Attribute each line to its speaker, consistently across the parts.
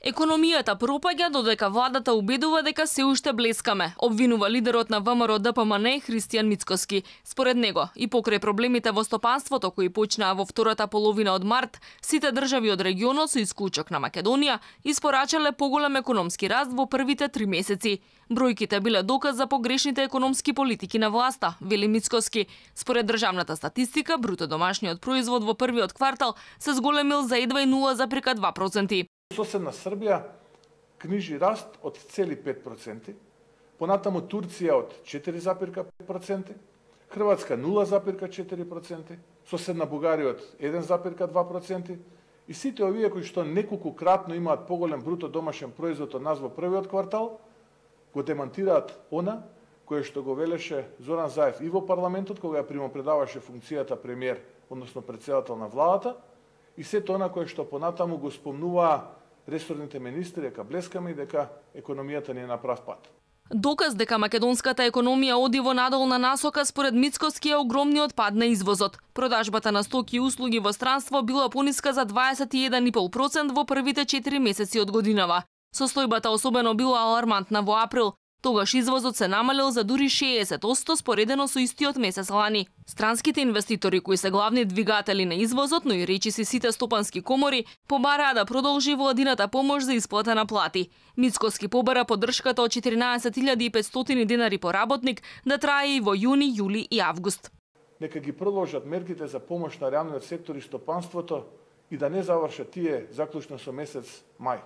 Speaker 1: Економијата пропаѓа додека владата убедува дека се уште блескаме, обвинува лидерот на ВМРО ДПМН Христијан Мицкоски. Според него, и покрај проблемите во стопанството кои почнаа во втората половина од март, сите држави од регионот со исклучок на Македонија испорачале поголем економски раст во првите 3 месеци. Бројките биле доказ за погрешните економски политики на власта, вели Мицкоски. Според државната статистика, бруто домашниот производ во првиот квартал се зголемил за едва 0,2%.
Speaker 2: Соседна Србија книжи раст од 0,5%, понатаму Турција од 4,5%, Хрватска 0,4%, соседна Бугарија од 1,2%, и сите овие кои што неколкукратно имаат поголем бруто домашен производ од нас во првиот квартал, го демантираат она кое што го велеше Зоран Заев и во парламентот кога ја примопредаваше функцијата премиер, односно претседател на владата, и сето она кое што понатаму го спомнуваа ресорните министри дека блескаме и дека економијата ни е на прав пат.
Speaker 1: Доказ дека македонската економија оди во надолна насока според Мицкоски е огромниот пад на извозот. Продажбата на стоки и услуги во странство била пониска за 21,5% во првите 4 месеци од годинава. Состојбата особено била алармантна во април. Тогаш извозот се намалил за дури 60% споредено со истиот месец лани. Странските инвеститори кои се главни двигатели на извозот, но и речиси сите стопански комори, побараа да продолжи владината помош за исплата на плати. Мицкоски побара поддршката од 14.500 денари по работник да трае и во јуни, јули и август.
Speaker 2: Нека ги продолжат мерките за помош на реалниот сектор и стопанството и да не завршат тие заклучно со месец мај.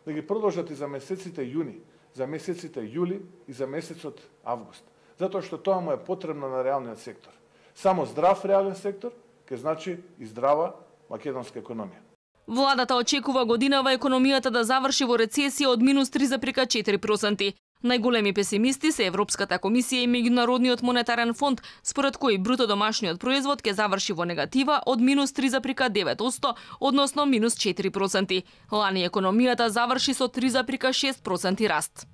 Speaker 2: Да ги продолжат и за месеците јуни, за месеците јули и за месецот август. Затоа што тоа му е потребно на реалниот сектор. Само здрав реален сектор ќе значи и здрава македонска економија.
Speaker 1: Владата очекува годинава економијата да заврши во рецесија од минус 3,4%. Најголеми песимисти се Европската комисија и Меѓународниот монетарен фонд, според кои бруто домашниот производ ќе заврши во негатива од минус 3,9%, односно минус 4%. Лани економијата заврши со 3,6% раст.